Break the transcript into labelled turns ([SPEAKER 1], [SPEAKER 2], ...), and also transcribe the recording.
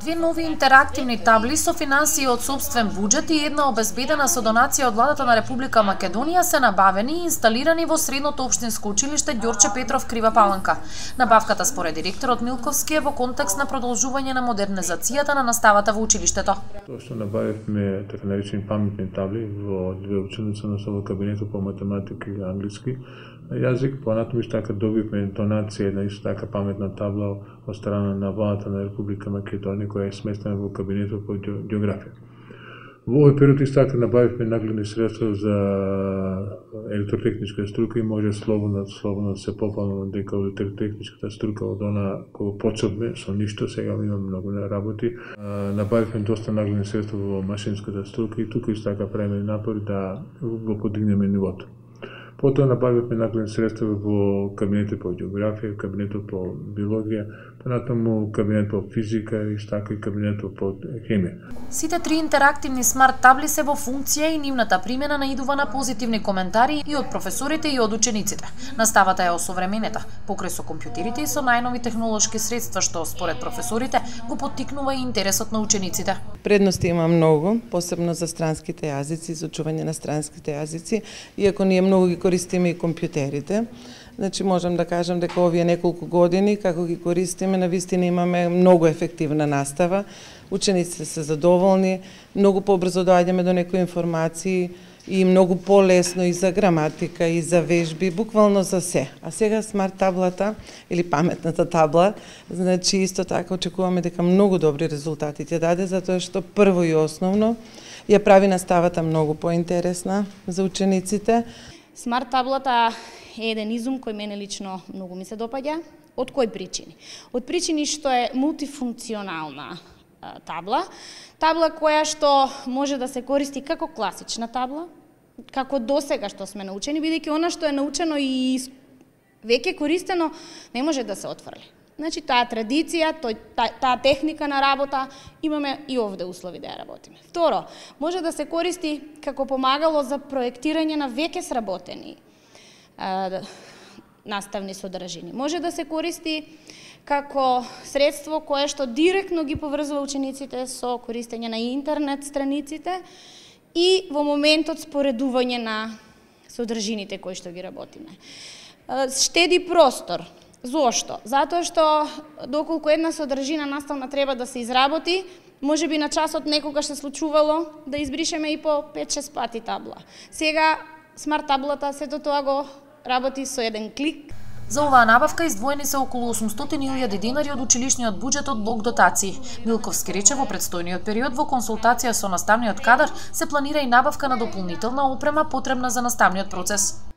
[SPEAKER 1] Две нови интерактивни табли со финансии од сопствен буџет и една обезбедена со донација од владата на Република Македонија се набавени и инсталирани во Средното општинско училиште Ѓорче Петров Крива Паланка. Набавката според директорот Милковски е во контекст на продолжување на модернизацијата на наставата во училиштето.
[SPEAKER 2] Тоа што набавивме така наречени паметни табли во две училници, во кабинетот по математика и англиски јазик, понатаму исто така добивме донација на исто така паметна табла од страна на владата на Република Македонија која е сместена во кабинетот по географија. Во овој период исто така набавивме нагледни средства за електротехничка струка и може слободно да се попълно дека електротехничката струка од она која почнавме со ништо, сега имаме многу работи. Набавивме доста нагледни средства во машинската струка и тука исто така правиме напори да го подигнеме нивото. Потоа набавивме нагледни средства во кабинетот по географија, кабинетот по биологија, понатаму кабинет по физика и така и кабинетот по хемија.
[SPEAKER 1] Сите три интерактивни смарт табли се во функција и нивната примена наидува на позитивни коментари и од професорите и од учениците. Наставата е осовременета, покрај со компјутерите и со најнови технолошки средства што според професорите го поттикнува и интересот на учениците.
[SPEAKER 3] Предности има многу, посебно за странските јазици, изучување на странските јазици, иако ние многу ги користиме и компјутерите. Значи можам да кажам дека овие неколку години како ги користиме, навистина имаме многу ефективна настава. Учениците се задоволни, многу побрзо доаѓаме до некои информации и многу полесно и за граматика и за вежби, буквално за се. А сега смарт таблата или паметната табла, значи исто така очекуваме дека многу добри резултати ќе даде, затоа што прво и основно ја прави наставата многу поинтересна за учениците.
[SPEAKER 4] Смарт таблата е еден изум кој мене лично многу ми се допаѓа. Од кои причини? Од причини што е мултифункционална табла, табла која што може да се користи како класична табла, како досега што сме научени, бидејќи она што е научено и веќе користено не може да се отфрли. Значи таа традиција, таа техника на работа имаме и овде услови да ја работиме. Второ, може да се користи како помагало за проектирање на веќе сработени наставни содржини. Може да се користи како средство кое што директно ги поврзува учениците со користење на интернет страниците и во моментот споредување на содржините кои што ги работиме. Штеди простор. Зошто? Затоа што доколку една содржина наставна треба да се изработи, можеби на часот некогаш се случувало да избришеме и по 5-6 пати табла. Сега смарт таблата сето тоа го работи со еден клик.
[SPEAKER 1] За оваа набавка издвоени се околу 800.000 денари од училишниот буџет од блок дотации. Милковски рече во предстојниот период во консултација со наставниот кадар се планира и набавка на дополнителна опрема потребна за наставниот процес.